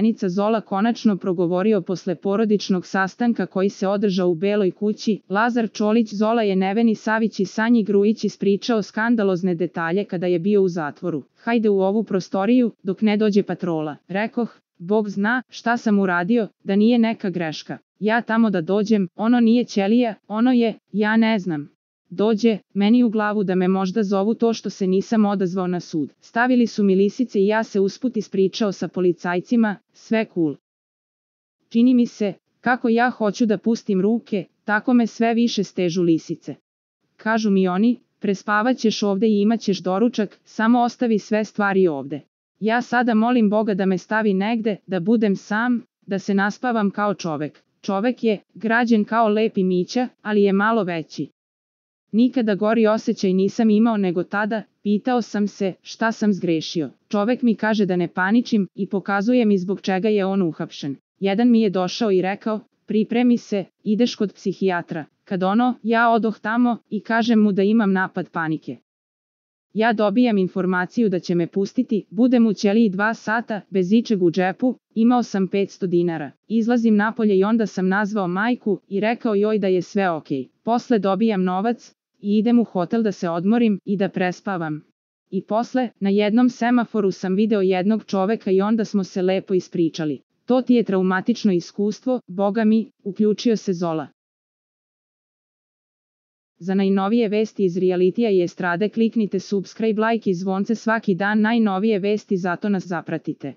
Imenica Zola konačno progovorio posle porodičnog sastanka koji se održao u Beloj kući. Lazar Čolić Zola je Neveni Savić i Sanji Grujić ispričao skandalozne detalje kada je bio u zatvoru. Hajde u ovu prostoriju, dok ne dođe patrola. Rekoh, Bog zna šta sam uradio, da nije neka greška. Ja tamo da dođem, ono nije ćelija, ono je, ja ne znam. Dođe, meni u glavu da me možda zovu to što se nisam odazvao na sud. Stavili su mi lisice i ja se usput ispričao sa policajcima, sve cool. Čini mi se, kako ja hoću da pustim ruke, tako me sve više stežu lisice. Kažu mi oni, prespavaćeš ovde i imaćeš doručak, samo ostavi sve stvari ovde. Ja sada molim Boga da me stavi negde, da budem sam, da se naspavam kao čovek. Čovek je, građen kao lepi Mića, ali je malo veći. Nikada gori osjećaj nisam imao nego tada, pitao sam se šta sam zgrešio. Čovek mi kaže da ne paničim i pokazuje mi zbog čega je on uhapšen. Jedan mi je došao i rekao, pripremi se, ideš kod psihijatra. Kad ja odoh tamo i kažem mu da imam napad panike. Ja dobijam informaciju da će me pustiti, budem u ćeliji 2 sata, bez ičeg u džepu, imao sam 500 dinara. Izlazim napolje i onda sam nazvao majku i rekao joj da je sve okej. Posle dobijam novac i idem u hotel da se odmorim i da prespavam. I posle, na jednom semaforu sam video jednog čoveka i onda smo se lepo ispričali. To ti je traumatično iskustvo, Boga mi, uključio se Zola. Za najnovije vesti iz realitija i estrade kliknite subscribe, like i zvonce svaki dan, najnovije vesti, zato nas zapratite.